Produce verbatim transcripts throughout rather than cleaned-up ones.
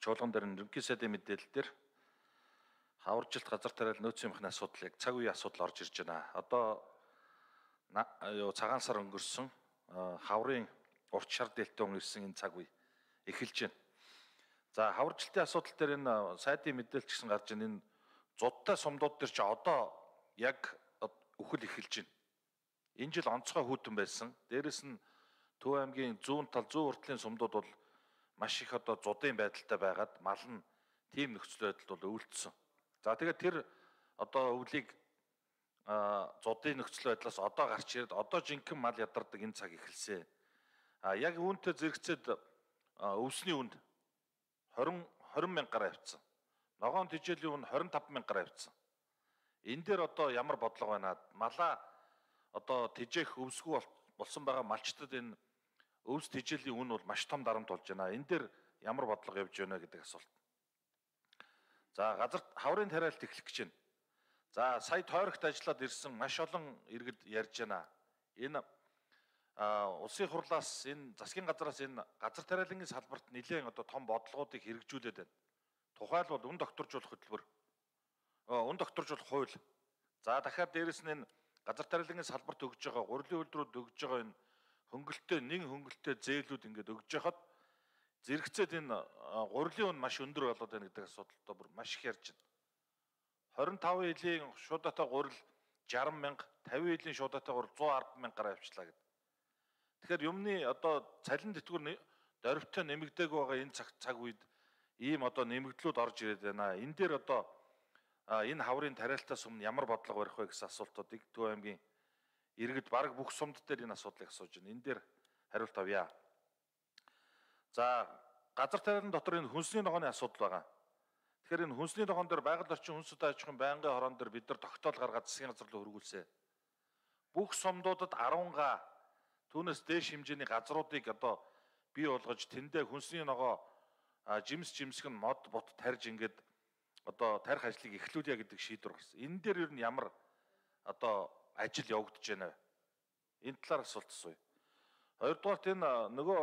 чуулган дээр ерөнхий сайдын мэдээлэл дээр хаваржилт газар тариал нөөцийн махны асуудал яг цаг үеийн асуудал орж ирж байна. Одоо юу цагаан сар өнгөрсөн хаврын урт шар дэлтэн ирсэн энэ цаг үе эхэлж байна. За хаваржилтын асуудал дээр энэ сайдын мэдээлэл гэсэн гарч байна. Энэ зудтай сумдууд дээр чи одоо яг үхэл эхэлж байна. Энэ жил онцгой хүйтэн байсан. Дээрэс нь Төв аймгийн зүүн тал зүүн уртлын сумдууд бол маш их одоо зудын байдалтай байгаад мал нь тийм нөхцөл байдалд бол өвөлдсөн. За тэгээд тэр одоо өвлийг зудын нөхцөл байдлаас одоо гарч ирээд одоо жинхэнэ мал ядардаг энэ цаг эхэлсэн. А яг үүнтэй зэрэгцээд өвсний үнд двадцать мянга гаруй авцсан. Ногоон тижээлийн үн двадцать таван мянга гаруй авцсан. Энэ дээр одоо ямар бодлого байна? Малаа одоо тижээх өвсгүй болсон байгаа малчтад энэ өвс тижээлийн үн бол маш том дарамт болж байна. Энэ дээр ямар бодлого явж байна гэдэг асуулт. За газар хаврын тариалт эхлэх гэж байна. За сая тойрогт ажиллаад ирсэн маш олон иргэд ярьж байна. Энэ улсын хурлаас энэ засгийн газраас энэ газар тариалангийн салбарт нэлээд одоо том бодлогоодыг хэрэгжүүлээд байна. Тухайлбал үн докторжуулах хөтөлбөр, үн докторжуулах хууль. За дахиад дээрэс нь энэ газар тариалангийн салбарт өгж байгаа гурилын үйлдвэрүүд өгж байгаа энэ хөнгөлөлтөө нэн хөнгөлөлтөө зээлүүд ингээд өгж яхад зэрэгцээд энэ гурилын үн маш өндөр болоод байна гэдэг асуудалтай бүр маш их ярьж байна. двадцать таван илийн шуудатай гурил шарсан мянга, тавин илийн шуудатай гурил зуун арван мянга гаруй авчлаа гэдэг. Тэгэхээр юмны одоо цалин тэтгэвэр дөрвтэй нэмэгдээг байгаа энэ цаг цаг үед ийм одоо нэмэгдлүүд орж ирээд байна. Энэ дээр одоо энэ хаврын тариалтаас өмнө ямар бодлого барих вэ гэсэн асуултуудыг Төв аймгийн иргэд бараг бүх сумд дээр энэ асуудлыг асууж байна. Энэ дээр хариулт авъя. За газар тариалан дотор энэ хүнсний ногооны асуудал байгаа. Тэгэхээр энэ хүнсний ногоон дээр байгаль орчин хүнс удаа аж ахуйн байнгын хорон дээр бид нар тогтоол гаргаад засгийн газар руу хөргүүлсэн. Бүх сумдуудад арван га түүнээс дээш хэмжээний газруудыг одоо бий болгож тэндээ хүнсний ногоо жимс жимсгэн мод бот тарьж ингээд одоо тарих ажлыг эхлүүлье гэдэг шийдвэр гарсан. Энэ дээр ер нь ямар одоо ажил явагдаж байна вэ? Энэ талаар асуулт асууя. Хоёрдугаарт энэ нөгөө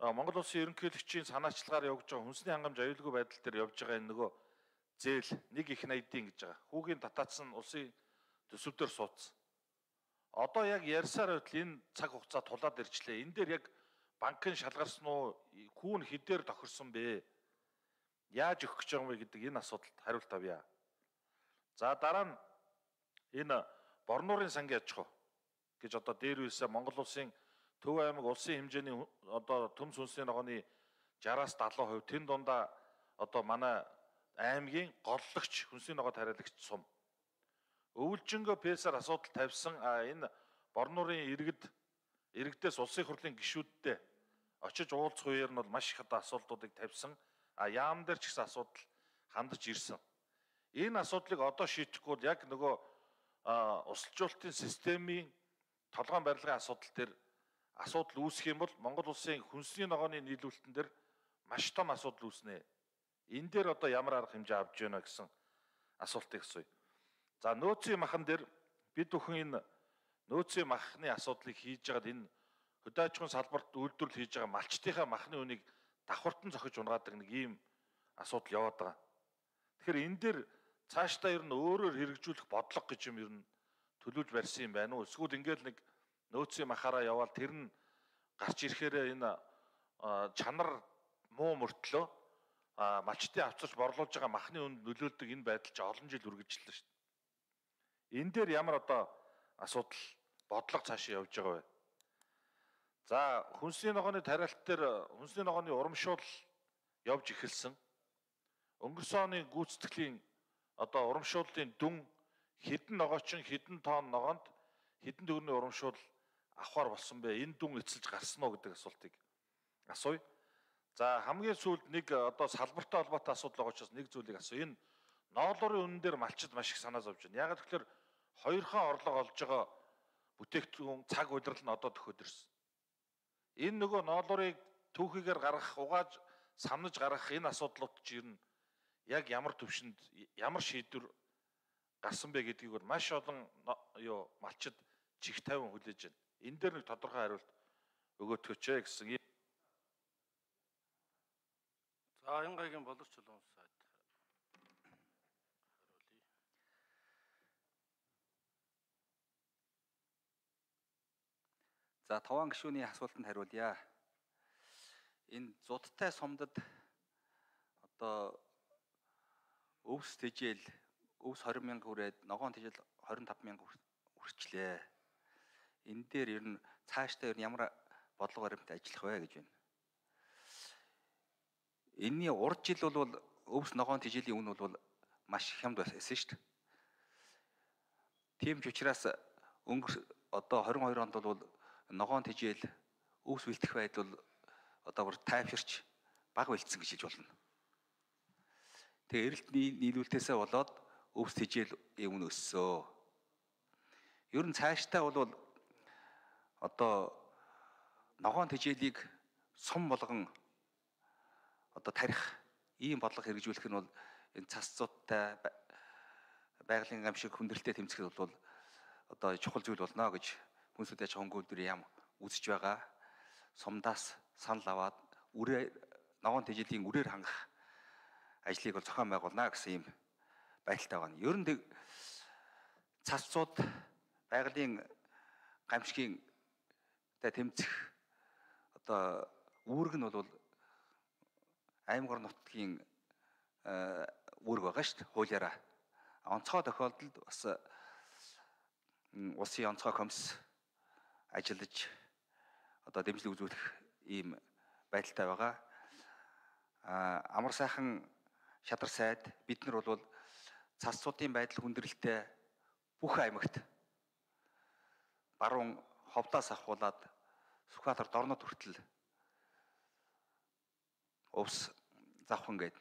Монгол улсын ерөнхийлөгчийн санаачлагаар явж байгаа хүнсний хангамж аюулгүй байдал дээр явж байгаа энэ нөгөө зээл нэг их найдын гэж байгаа. Хүүгийн татаацсан улсын төсөв дээр суудсан. Одоо яг ярьсаар байтал энэ цаг хугацаа тулаад ирчлээ. Энэ дээр яг банкын шалгарсан уу, хүүн хэдээр тохирсон бэ? Яаж өгөх гэж байгаа юм бэ гэдэг энэ асуудалд хариулт авъя. За дараа нь энэ Борнуурын сангийн аж ахуй гэж одоо дээр үеэсээ Монгол улсын Төв аймаг улсын хэмжээний одоо төмс хүнсний ногооны шараас далайн хувь тэн дундаа одоо манай аймгийн голлогч хүнсний ногоо тариалагч сум. Өвөлжингөө пэсээр асуудал тавьсан энэ Борнуурын иргэд иргэдээс улсын хурлын гишүүдтэй очиж уулзах үеэр нь бол маш их одоо асуудлуудыг тавьсан. А яам дээр ч гэсэн асуудал хандаж ирсэн. Энэ асуудлыг одоо шийдэхгүй бол яг нөгөө усалжуулалтын системийн толгойн барилгын асуудал дээр асуудал үүсэх юм бол Монгол улсын хүнсний ногооны нийлүүлэлтэн дээр маш том асуудал үүснэ. Энэ дээр одоо ямар арга хэмжээ авч яана гэсэн асуултыг асууя. За нөөцийн махан дээр бид бүхэн энэ нөөцийн махны асуудлыг хийж байгаад энэ хөдөө аж ахуйн салбарт үйлдвэрлэл хийж байгаа малчтынхаа махны үнийг давхартан зохиж унгаадаг нэг ийм асуудал яваад байгаа. Тэгэхээр энэ дээр цаашдаа ер нь өөрөөр хэрэгжүүлэх бодлого гэж юм ер нь төлөвлөж барьсан юм байна уу? Эсвэл ингээл нэг нөөцийн махаараа яваал тэр нь гарч ирэхээр энэ чанар муу мөртлөө малчтын авчирч борлуулж байгаа махны үнд нөлөөлдөг энэ байдал ч олон жил үргэлжиллээ шүү дээ. Энэ дээр ямар одоо асуудал бодлого цаашаа явж байгаа вэ? За хүнсний ногооны тариалт дээр хүнсний ногооны урамшуул явж эхэлсэн. Өнгөрсөн оны гүйцэтгэлийн одоо урамшууллын дүн хэдэн ногоочин хэдэн тонн ногоонд хэдэн төгрөгийн урамшуул авахар болсон бэ? Энэ дүн эцэлж гарсан уу гэдэг асуултыг асууя. За хамгийн сүүлд нэг одоо салбартай холбоотой асуудал байгаа учраас нэг зүйлийг асууя. Энэ ноолуурын үнэн дээр малчид маш их санаа зовж байна. Яг тэгэхээр хоёрхан орлого олж байгаа бүтээгдэхүүн цаг удирдал нь одоо төхөд ирсэн. Энэ нөгөө ноолуурыг түүхийгээр гаргах, угааж самнаж гаргах энэ асуудлууд ч ер нь яг ямар төвшөнд ямар шийдвэр гарсан бэ гэдгийг бол маш олон юу малчид чих тавин хүлээж байна. Энэ дээр нэг тодорхой хариулт өгөөтгөөч ээ гэсэн. За Баянгайгийн боловч чулуун сайд хариулъя. За таван гишүүний асуултанд хариулъя. Энэ зудтай сумдад одоо өвс тэжээл өвс двадцать мянга хүрээд ногоон тэжээл двадцать пять мянга хүрчлээ. Энэ дээр ер нь цаашдаа ер нь ямар бодлого баримттай ажиллах вэ гэж байна. Энийний урд жил бол өвс ногоон тэжээлийн үн бол маш хямд байсан шүү дээ. Тийм ч учраас өнгөрс одоо двадцать two онд бол ногоон тэжээл өвс бэлтгэх байдал одоо бүр тайвширч бага бэлдсэн гэж хэлж болно. Тэгээ эрэлт нийлүүлэлтээсээ болоод өвс тэжээлийн үн өссөн. Ер нь цаашдаа бол одоо ногоон тэжээлийг сум болгон одоо тарих ийм бодлого хэрэгжүүлэх нь бол энэ цасцуудтай байгалийн гамшиг хүндрэлтэй тэмцэхэд бол одоо чухал зүйл болно гэж хүнсүүд аж ахуйн хөнгөлдрийн яам үзэж байгаа. Сумдаас санал аваад үрээ ногоон тэжээлийн үрээр хангах ажлыг бол зохион байгуулна гэсэн ийм байдалтай байна. Ер нь цасцууд байгалийн гамшигын тэмцэх одоо үүрэг нь бол аймаг нутгийн үүрэг байгаа шүү дээ, хуулиараа. Онцгой тохиолдолд бас улсын онцгой комисс ажиллаж одоо дэмжлэг үзүүлэх ийм байдалтай байгаа. Амар сайхан шадар сайд бид нар бол цасцуудын байдал хүндрэлтэй бүх аймагт баруун ховдоос ахуулаад Сүхбаатар дорнод хүртэл өвс завхан гээд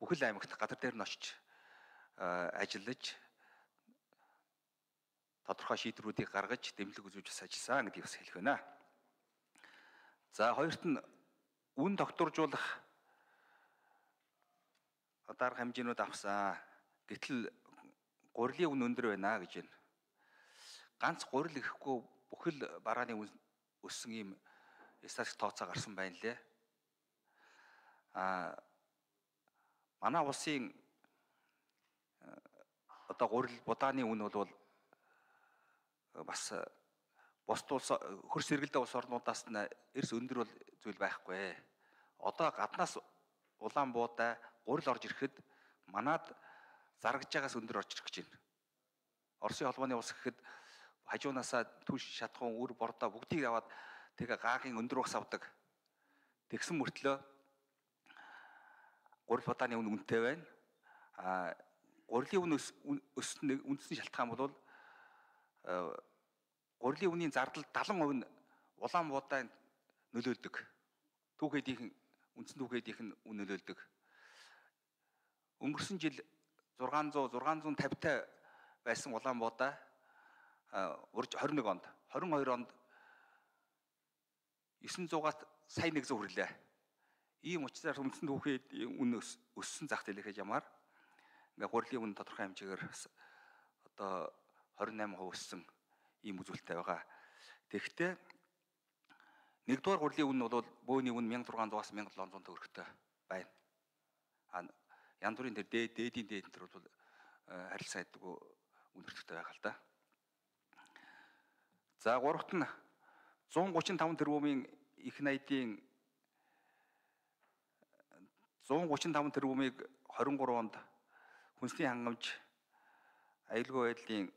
бүхэл аймагт гадар дээр нь очиж ажиллаж тодорхой шийдвэрүүдийг гаргаж дэмжлэг үзүүлж ажилласан гэдгийг бас хэлэх байна. За хоёрт нь үн докторжуулах дарга хэмжээнүүд авсан. Гэтэл гурилын үн өндөр байна гэж байна. Ганц гурил гэхгүй бүхэл барааны үн өссөн ийм статистик тооцоо гарсан байна лээ. А манай улсын одоо гурил будааны үн бол бас бусд улс хөрс сэргэлдээ улс орнуудаас нь эрс өндөр бол зүйл байхгүй. Одоо гаднаас улаан буудаа гурил орж ирэхэд манад зарагж байгаас өндөр орж ирэх гэж байна. Оросын холбооны улс гэхэд хажуунаасаа түш шатхуун үр бордоо бүгдийг аваад тэгээ гаагийн өндөр ус авдаг. Тэгсэн мөртлөө гурил будааны үн үнэтэй байна. А гурилын үн өссөн үндсэн шалтгаан бол гурилын үнийн зардал seventy percent нь улаан буудаа нөлөөлдөг. Түүхэдийнхэн үндсэн түүхэдийнх нь үн нөлөөлдөг. Өнгөрсөн жил six hundred six hundred fifty та байсан улаан буудаа урж twenty-one онд twenty-two онд nine hundred-аас сая one hundred хүрлээ. Ийм учраас үндсэн түүхийн үн өссөн зах зээл гэж ямар ингээ гурилын үн тодорхой хэмжээгээр одоо twenty-eight percent өссөн ийм үзүүлэлттэй байгаа. Тэгэхдээ нэгдүгээр гурилын үн бол бөөний үн sixteen hundred-аас seventeen hundred төгрөгтэй байна. А янз бүрийн тэр дээд дээдийн дээд төр бол харилцан айдгүй үн өртөгтэй байгаа л да. За гуравт нь one thirty-five тэрбумын их найдын one thirty-five тэрбумыг twenty-three онд хүнсний хангамж аюулгүй байдлын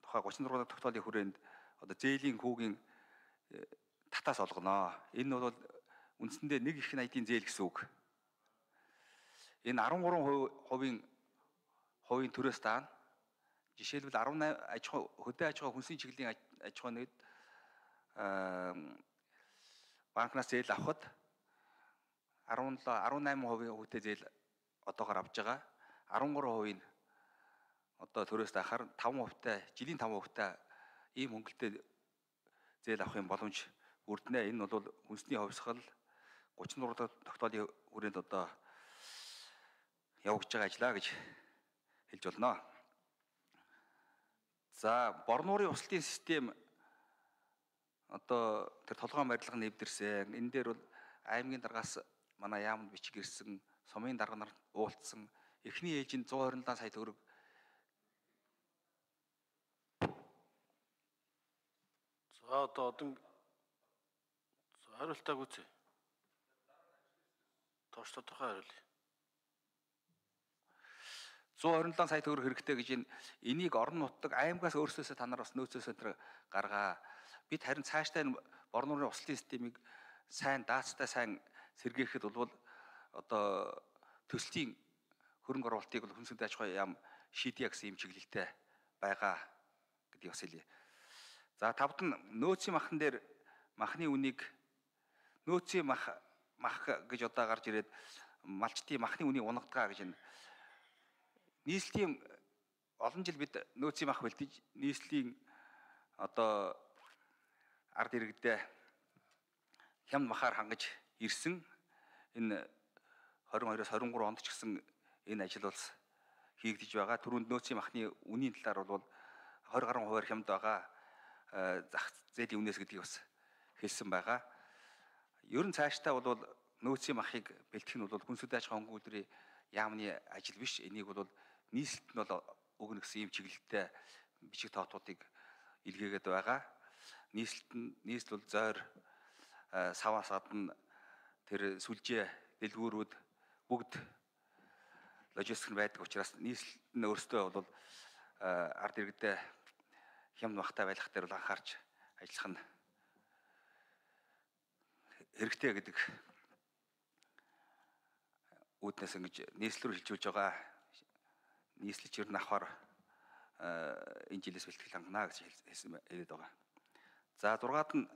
тухай thirty-six дахь тогтоолын хүрээнд одоо зээлийн хүүгийн татаас олгоно. Энэ бол үндсэндээ нэг их найдын зээл гэсэн үг. Энэ thirty-three хувийн хувийн төрөөс даана. Жишээлбэл eighteen аж ахуй хөдөө аж ахуй хүнсний чиглэлийн аж ахуй нэгд банкнаас зээл авахд seventeen eighteen percent хүүтэй зээл одоогоор авж байгаа. thirteen percent одоо төрөөс даахаар five percent жилийн five percent ийм хөнгөлтэй зээл авахын боломж бүрднэ. Энэ бол хүнсний хувьсгал thirty-four дахь тогтоолын хүрээнд одоо явагдаж байгаа ажиллаа гэж хэлж болно. За борнуурын услтын систем одоо тэр толгойн барилга нэвдэрсэн. Энэ дээр бол аймгийн даргаас манай яамд бичиг ирсэн сумын дарга нар уулзсан. Эхний ээлжинд one hundred twenty-seven сая төгрөг За одоо одон хариултаа гүцээ. Тоош тодорхой хариулъя. one hundred twenty-seven сая төгрөг хэрэгтэй гэж энэ энийг орон нутаг аймагаас өөрсдөөсөө та нар бас нөөцөөсөө тэр гаргаа. Бид харин цаашдаа энэ борон нурны услын системийг сайн даацтай сайн сэргээхэд бол одоо төслийн хөрөнгө оруулалтыг бол хүнсний аж ахуй яам шийдье гэсэн юм чиглэлтэй байгаа гэдгийг бас хэлье. За тавд нь нөөцийн махан дээр махны үнийг нөөцийн мах мах гэж одоо гарч ирээд малчтын махны үнийг унгадгаа гэж энэ нийслэлийн олон жил бид нөөцийн мах бэлдэж нийслэлийн одоо ард иргэдээ хямд махаар хангаж ирсэн. Энэ twenty-two-аас twenty-three онд ч гэсэн энэ ажил бол хийгдэж байгаа. Түрүүнд нөөцийн махны үнийн талаар бол twenty гаруй хувиар хямд байгаа. Зах зээлийн үнээс гэдгийг бас хэлсэн байгаа. Ер нь цаашдаа бол нөөцийн махыг бэлтгэх нь бол хүнсний аж ахуйн хөнгөлдрийн яамны ажил биш. Энийг бол нийслэлд нь бол өгнө гэсэн юм чиглэлтэй бичиг тоотуудыг илгээгээд байгаа. Нийслэлд нь нийслэл бол зойр саваас гадна тэр сүлжээ дэлгүүрүүд бүгд логистик байдаг учраас нийслэл нь өөрсдөө бол ард иргэдээ хямд махтай байх дээр бол анхаарч ажиллах нь хэрэгтэй гэдэг үүднээс ингэж нийслэл рүү хилжүүлж байгаа. Нийслэлч ер нь авахар энэ жилээс бэлтгэл хангана гэж хэлсэн хэлээд байгаа. За зургаад нь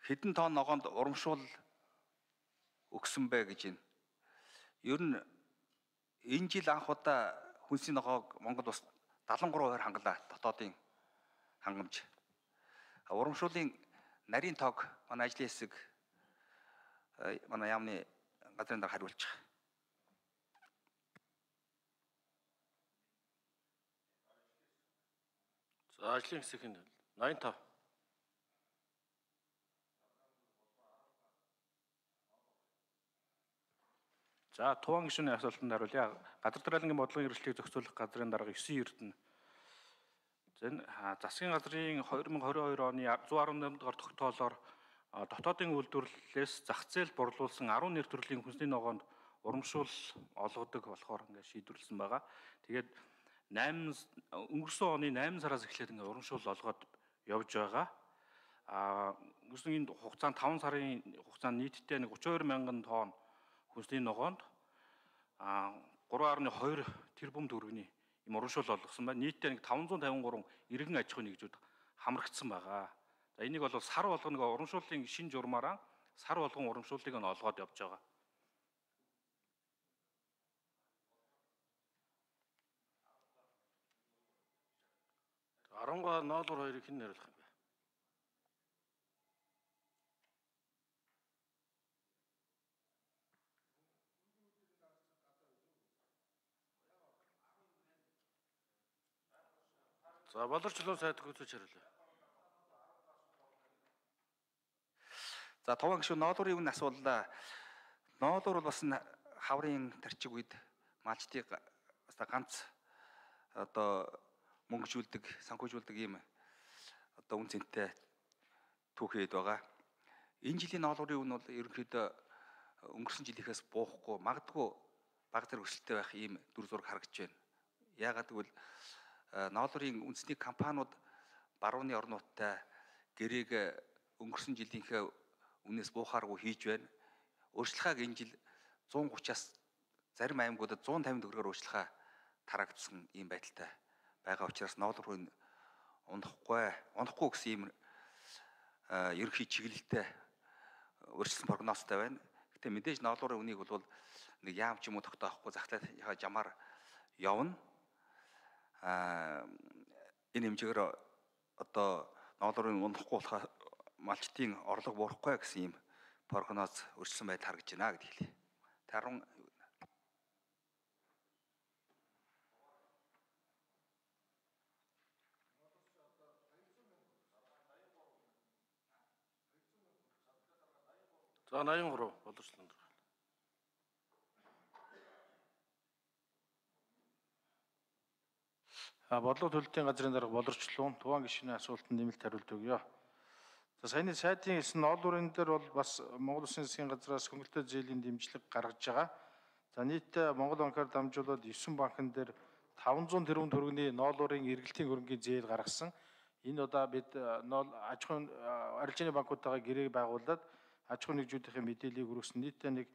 хэдэн тонн ногоонд урамшуул өгсөн бэ гэж байна. Ер нь энэ жил анх удаа хүнсний ногоог Монгол бас seventy-three хувиар хангалаа дотоодын хангамж. Урамшуулын нарийн тоог манай ажлын хэсэг манай яамны газрын дараа хариулчих. За ажлын хэсгийн ninety-five. За Туван гишүүний асуултанд хариулъя. Газар дарааллын бодлогын эрхлэлийг зохицуулах газрын дарга nine Эрдэнэ. Зэн засгийн газрын twenty twenty-two оны one eighty-eight дугаар тогтоолоор дотоодын үйлдвэрлэлээс зах зээл борлуулсан ten нэр төрлийн хүнсний ногоонд урамшуул олгодог болохоор ингээд шийдвэрлсэн байгаа. Тэгээд eight өнгөрсөн оны eight сараас эхлээд ингээд урамшуул олгоод явж байгаа. А өнгөрсөн энэ хугацаанд five сарын хугацаанд нийтдээ thirty-two мянган тонн хүнсний ногоонд а three point two тэрбум төгрөгийн юм урамшуул олгосон байна. Нийтдээ five fifty-three иргэн аж ахуйн нэгжүүд хамрагдсан байгаа. За энийг бол сар болгоно нэг урамшууллын шинэ журмаараа сар болгон урамшууллыг нь олгоод явж байгаа. Аранга ноолор хоёрыг хэн нэрлэх юм бэ? За боловчлон сайд гүйцэж хариулъя. За Туван гишүүн ноолуурын өмнө асуулаа. Ноолуур бол бас хаврын тарчиг үед малчтыг бас ганц одоо мөнгөжүүлдэг, санхүүжүүлдэг юм одоо үн цэнтэй түүхэд байгаа. Энэ жилийн ноолуурын өмнө бол ерөнхийдөө өнгөрсөн жилийнхээс буухгүй, магадгүй бага зэрэг өсөлттэй байх ийм дүр зураг харагдж байна. Яагаад гэвэл ноолуурын үндэсний компаниуд барууны орнуудтай гэрээг өнгөрсөн жилийнхээ үнээс буухааргүй хийж байна. Өөрчлөлтийг энэ жил one thirty-аас зарим аймагуудад one fifty төгрөгөөр өөрчлөлт тарагдсан ийм байдалтай байгаа учраас ноолуурын унахгүй, унахгүй гэсэн ийм ерөнхий чиглэлтэй өөрчлөлт прогнозтой байна. Гэтэ мэдээж ноолуурын үнийг бол нэг яам ч юм уу тогтоохгүй захлаа жамаар явна. А энэ хэмжээгээр одоо ноолуурын унахгүй болохоо малчтын орлого буурахгүй гэсэн юм прогноз өрчлсөн байдал харагдаж байна гэдэг хэлье. Тарун За ninety-three боловчлон. Бодлого төлөлтийн газрын дарга боловсчлон Туван гишүүний асуултанд нэмэлт хариулт өгье. За саяны сайдын хэлсэн ноолуурын дээр бол бас Монгол Улсын засгийн газраас хөнгөлөлтөө зээлийн дэмжлэг гаргаж байгаа. За нийтдээ Монгол банкаар дамжуулаад девять банкн дээр таван зуун тэрбум төгрөгийн ноолуурын эргэлтийн хөрөнгийн зээл гаргасан. Энэ удаа бид ноол аж ахуйн арилжааны банкудтайгаа гэрээ байгуулад аж ахуйн нэгжүүдийн мэдээллийг хүргэсэн. Нийтдээ нэг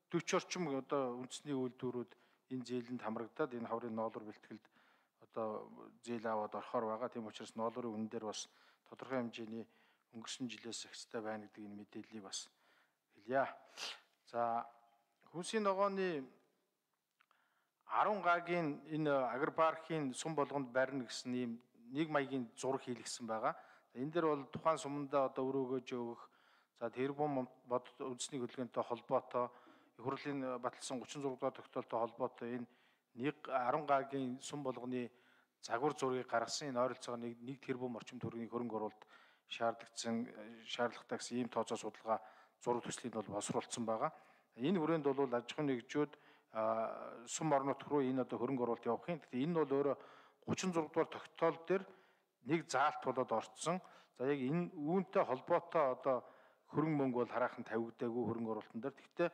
дөрвөн орчим одоо үндэсний үйлдвэрүүд энэ зээлэнд хамрагдаад энэ хаврын ноолуур бэлтгэлд одоо зээл аваад орохоор байгаа. Тийм учраас ноолуурын үнэн дээр бас тодорхой хэмжээний өнгөрсөн жилээс ихтэй байна гэдэг энэ мэдээллийг бас хэлье. За хүнсийн ногооны арван гагийн энэ агропаркийн сум болгонд барина гэсэн ийм нэг маягийн зураг хийлгсэн байгаа. Энэ дээр бол тухайн сумдаа одоо өр өгөөж өгөх, за тэрбум бод үндэсний хөдөлгөөнтэй холбоотой, их хурлын баталсан гучин зураг дахь тогтоолтой холбоотой энэ нэг арван гагийн сум болгоны загвар зургийг гаргасан. Энэ ойролцоогоор нэг нэг тэрбум орчим төгрөгийн хөрөнгө оруулалт шаардлагдсан шаардлагатай гэсэн ийм тооцоо судалгаа зураг төслийг бол боловсруулсан байгаа. Энэ хүрээнд бол аж ахуйн нэгжүүд сум орон нутг руу энэ одоо хөрөнгө оруулалт явах юм. Гэхдээ энэ бол өөрөө гучин зураг дугаар тогтоол дээр нэг заалт болоод орцсон. За яг энэ үүнтэй холбоотой одоо хөрөнгө мөнгө бол хараахан тавигдаагүй хөрөнгө оруулалтын дээр. Гэхдээ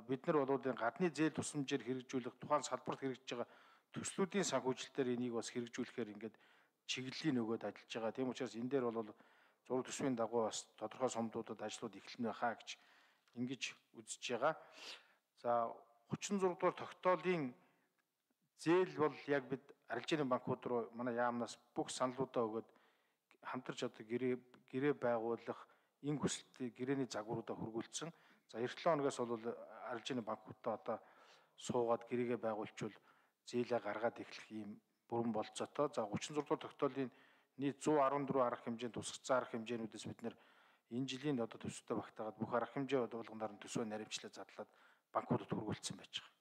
бид нар бол энэ гадны зээл тусламжээр хэрэгжүүлэх тухайн салбарт хэрэгжиж байгаа төслүүдийн санхүүжилтээр энийг бас хэрэгжүүлэхээр ингээд чиглэлийн өгөөд ажиллаж байгаа. Тийм учраас энэ дээр бол зураг төсвийн дагуу бас тодорхой сумдуудад ажлууд эхэлнэ хаа гэж ингэж үзэж байгаа. За гучин зураг дугаар тогтоолын зээл бол яг бид арилжааны банкуд руу манай яамнаас бүх саналуудаа өгөөд хамтарч одоо гэрээ гэрээ байгуулах энэ хүсэлтийг гэрээний загваруудаа хөргүүлсэн. За эх долоо хоногоос бол арилжааны банкудаа одоо суугаад гэрээгээ байгуулчвал зээлээ гаргаад эхлэх ийм бүрэн болцоотой. За гучин зураг дугаар тогтоолын нийт зуун арван дөрвөн арга хэмжээнд тусгацсан арга хэмжээнүүдээс бид нэр энэ жилийн одоо төсөвтэй багтаагаад бүх арга хэмжээ болгоноор нь төсвөө наривчлаад задлаад банкудад хөргүүлсэн байж байгаа.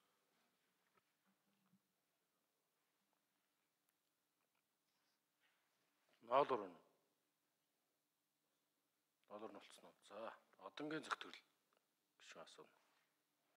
Ноолуур нь. Ноолуур нь болцсон уу? За, одонгийн зохицол гişүн асууна.